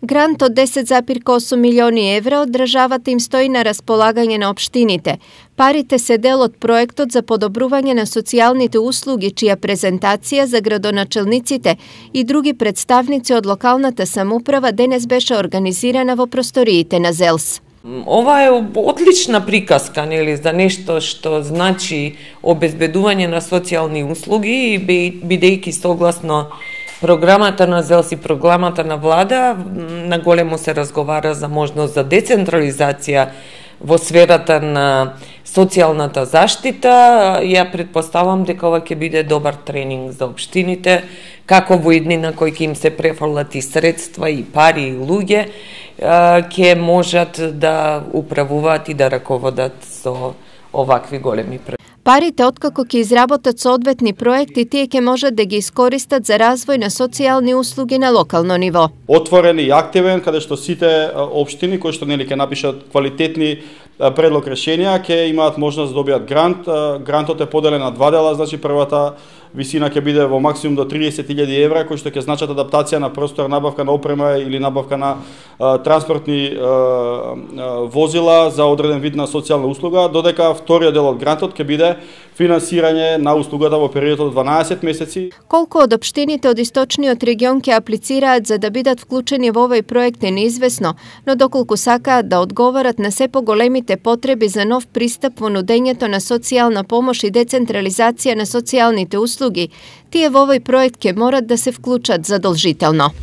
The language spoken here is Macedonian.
Грант од 10,8 милиони евра од државата им стои на располагање на општините. Парите се дел од проектот за подобрување на социјалните услуги, чија презентација за градоначелниците и други представници од локалната самоуправа денес беше организирана во просториите на ЗЕЛС. Ова е одлична приказка, нели, за нешто што значи обезбедување на социјални услуги, бидејќи согласно програмата на ЗЕЛС и програмата на влада, наголемо се разговара за можност за децентрализација во сферата на социјалната заштита. Ја претпоставам дека ова ќе биде добар тренинг за општините, како во иднина кои ќе им се префрлат и средства, и пари, и луѓе, ќе можат да управуваат и да раководат со овакви големи проекти. Парите, откако ќе изработат соодветни проекти, тие ќе можат да ги искористат за развој на социјални услуги на локално ниво. Отворен и активен, каде што сите општини кои што ќе напишат квалитетни предлог решенија, ќе имаат можност да добијат грант. Грантот е поделен на два дела, значи првата висина ќе биде во максимум до 30.000 евра, кои што ќе значат адаптација на простор, набавка на опрема или набавка на транспортни возила за одреден вид на социјална услуга, додека вториот дел од грантот ќе биде финансирање на услугата во период од 12 месеци. Колку од општините од источниот регион ќе аплицираат за да бидат вклучени во овој проект е неизвестно, но доколку сакаат да одговорат на се поголемите потреби за нов пристап во нудењето на социјална помош и децентрализација на социјалните услуги, тие во овој проект ќе морат да се вклучат задолжително.